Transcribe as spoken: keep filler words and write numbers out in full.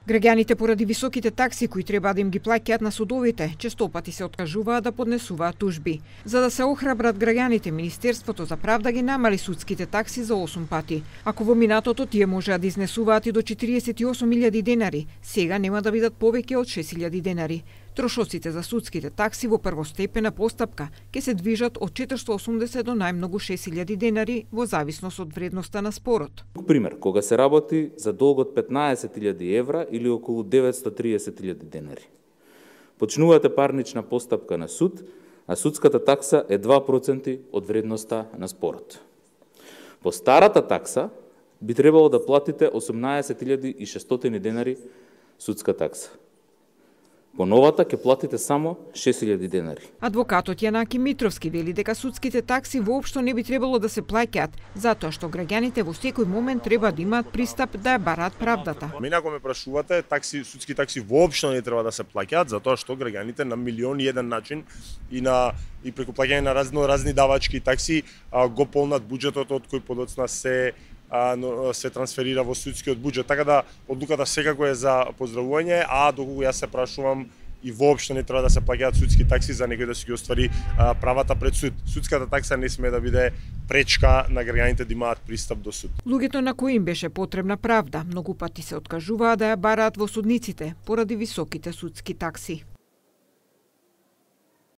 Граѓаните поради високите такси кои треба да им ги плаќаат на судовите, честопати се откажуваат да поднесуваат тужби. За да се охрабрат граѓаните, Министерството за правда ги намали судските такси за осум пати. Ако во минатото тие можеа да изнесуваат и до четириесет и осум илјади денари, сега нема да бидат повеќе од шест илјади денари. Трошоците за судските такси во првостепена постапка ќе се движат од четиристотини и осумдесет до најмногу шест илјади денари во зависност од вредноста на спорот. Пример, кога се работи за долг од петнаесет илјади евра или околу деветстотини и триесет илјади денари. Почнувате парнична постапка на суд, а судската такса е два проценти од вредноста на спорот. По старата такса би требало да платите осумнаесет илјади и шестстотини денари судска такса. По новата ќе платите само шест илјади денари. Адвокатот Јанаки Митровски вели дека судските такси воопшто не би требало да се плаќаат, затоа што граѓаните во секој момент треба да имаат пристап да ја бараат правдата. Мене ако ме прашувате, такси, судски такси воопшто не треба да се плаќаат, затоа што граѓаните на милион и еден начин и на и преку плаќање на разно разни давачки такси а, го полнат буџетот од кој подоцна се се трансферира во судскиот буџет, така да одлуката секако е за поздравување, а доколку јас се прашувам и воопшто не треба да се плаќаат судски такси за некој да си ги оствари а, правата пред суд. Судската такса не sme да биде пречка на граѓаните да имаат пристап до суд. Луѓето на кои им беше потребна правда, многу пати се откажуваа да ја бараат во судниците поради високите судски такси.